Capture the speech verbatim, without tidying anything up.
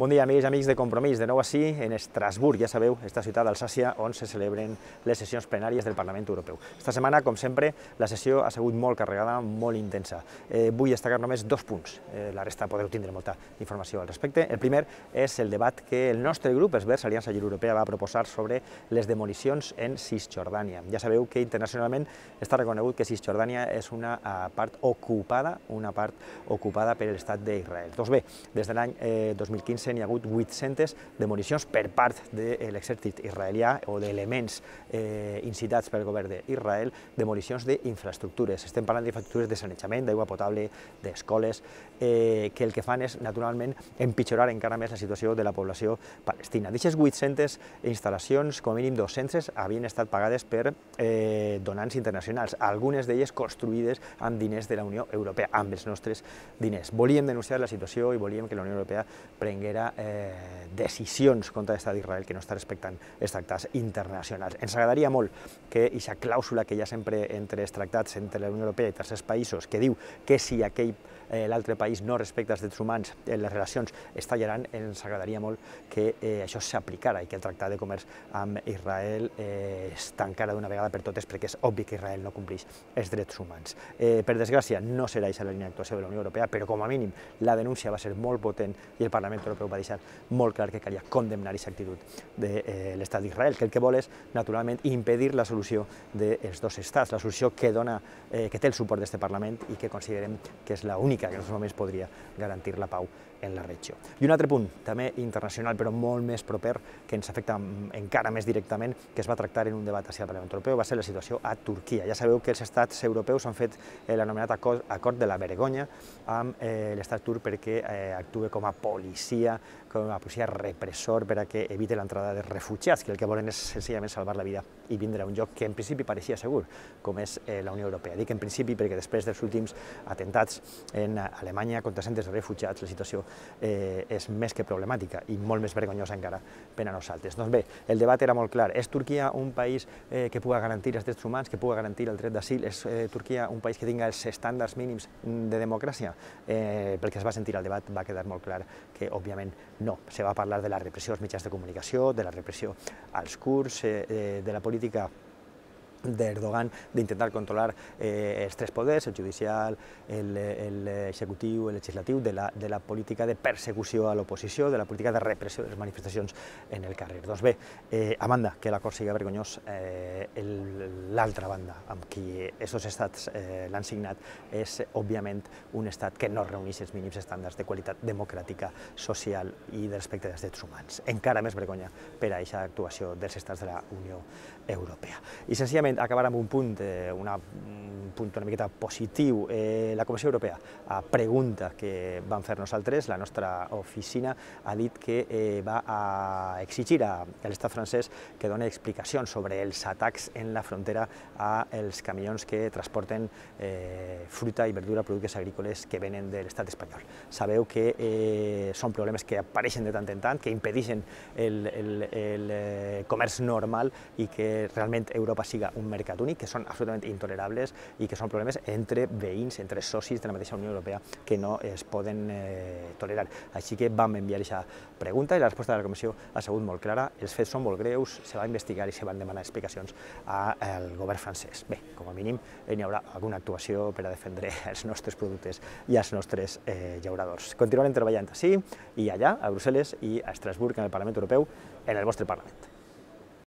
Bon dia, amics i amics de Compromís, de nou així en Estrasburg, ja sabeu, esta ciutat d'Alsàcia on se celebren les sessions plenàries del Parlament Europeu. Esta setmana, com sempre, la sessió ha sigut molt carregada, molt intensa. Eh, vull destacar només dos punts, eh, la resta podeu tindre molta informació al respecte. El primer és el debat que el nostre grup, els Verds Aliança Lliure Europea, va proposar sobre les demolicions en Cisjordània. Ja sabeu que internacionalment està reconegut que Cisjordània és una part ocupada, una part ocupada per l'estat d'Israel. Doncs bé, des de l'any eh, dos mil quinze n'hi ha hagut vuit-centes demolicions per part de l'exèrcit israelià o d'elements eh, incitats pel govern d'Israel, demolicions d'infraestructures. Estem parlant d'infraestructures de sanejament, d'aigua potable, d'escoles, eh, que el que fan és, naturalment, empitjorar encara més la situació de la població palestina. D'aquestes vuit-centes instal·lacions, com a mínim dos-centes, havien estat pagades per eh, donants internacionals, algunes d'elles construïdes amb diners de la Unió Europea, amb els nostres diners. Volíem denunciar la situació i volíem que la Unió Europea prenguera eh, decisions contra l'estat d'Israel que no està respectant els tractats internacionals. Ens agradaria molt que aquesta clàusula que hi ha sempre entre els tractats entre la Unió Europea i tercers països, que diu que si aquell eh, l'altre país no respecta els drets humans, eh, les relacions es tallaran, ens agradaria molt que eh, això s'aplicara i que el tractat de comerç amb Israel eh, es tancara d'una vegada per totes, perquè és obvi que Israel no compleix els drets humans. Eh, per desgràcia, no serà aquesta la línia d'actuació de la Unió Europea, però com a mínim la denúncia va ser molt potent i el Parlament Europeu va deixar molt clar que calia condemnar aquesta actitud de eh, l'estat d'Israel, que el que vol és, naturalment, impedir la solució dels dos estats, la solució que, dona, eh, que té el suport d'aquest Parlament i que considerem que és l'única que en aquests moments podria garantir la pau en la regió. I un altre punt, també internacional, però molt més proper, que ens afecta encara més directament, que es va tractar en un debat hacia el Parlament Europeu, va ser la situació a Turquia. Ja sabeu que els estats europeus han fet l'anomenat acord de la vergonya amb eh, l'estat turc perquè eh, actua com a policia, com a policia repressor per a que evite l'entrada de refugiats, que el que volen és senzillament salvar la vida i vindre a un lloc que en principi pareixia segur, com és eh, la Unió Europea. Dic en principi perquè després dels últims atentats en Alemanya contra centres de refugiats, la situació eh, és més que problemàtica i molt més vergonyosa encara per a nosaltres. Doncs bé, el debat era molt clar. És Turquia un país eh, que pugui garantir els drets humans, que pugui garantir el dret d'asil? És eh, Turquia un país que tinga els estàndards mínims de democràcia? Eh, pel que es va sentir al debat va quedar molt clar que, òbviament, no. Se va parlar de la repressió als mitjans de comunicació, de la repressió als kurds, eh, de la política d'Erdogan d'intentar controlar eh, els tres poders, el judicial, l'executiu, el legislatiu, de la, de la política de persecució a l'oposició, de la política de repressió de les manifestacions en el carrer. Doncs bé, eh, a banda que l'acord sigui vergonyós, eh, l'altra banda amb qui aquests estats eh, l'han signat és, òbviament, un estat que no reuneix els mínims estàndards de qualitat democràtica, social i de respecte dels drets humans. Encara més vergonya per a aquesta actuació dels estats de la Unió Europea. I, senzillament, acabar amb un punt, eh, una, un punt una miqueta positiu. Eh, la Comissió Europea, a pregunta que vam fer nosaltres, la nostra oficina ha dit que eh, va a exigir a l'estat francès que doni explicacions sobre els atacs en la frontera als camions que transporten eh, fruita i verdura, productes agrícoles que venen de l'estat espanyol. Sabeu que eh, són problemes que apareixen de tant en tant, que impedeixen el, el, el comerç normal i que realment Europa siga un mercat únic, que són absolutament intolerables i que són problemes entre veïns, entre socis de la mateixa Unió Europea que no es poden eh, tolerar. Així que vam enviar aquesta pregunta i la resposta de la Comissió ha sigut molt clara. Els fets són molt greus, se va investigar i se van demanar explicacions al govern francès. Bé, com a mínim hi haurà alguna actuació per a defendre els nostres productes i els nostres eh, llauradors. Continuarem treballant així i allà, a Brussel·les i a Estrasburg, en el Parlament Europeu, en el vostre Parlament.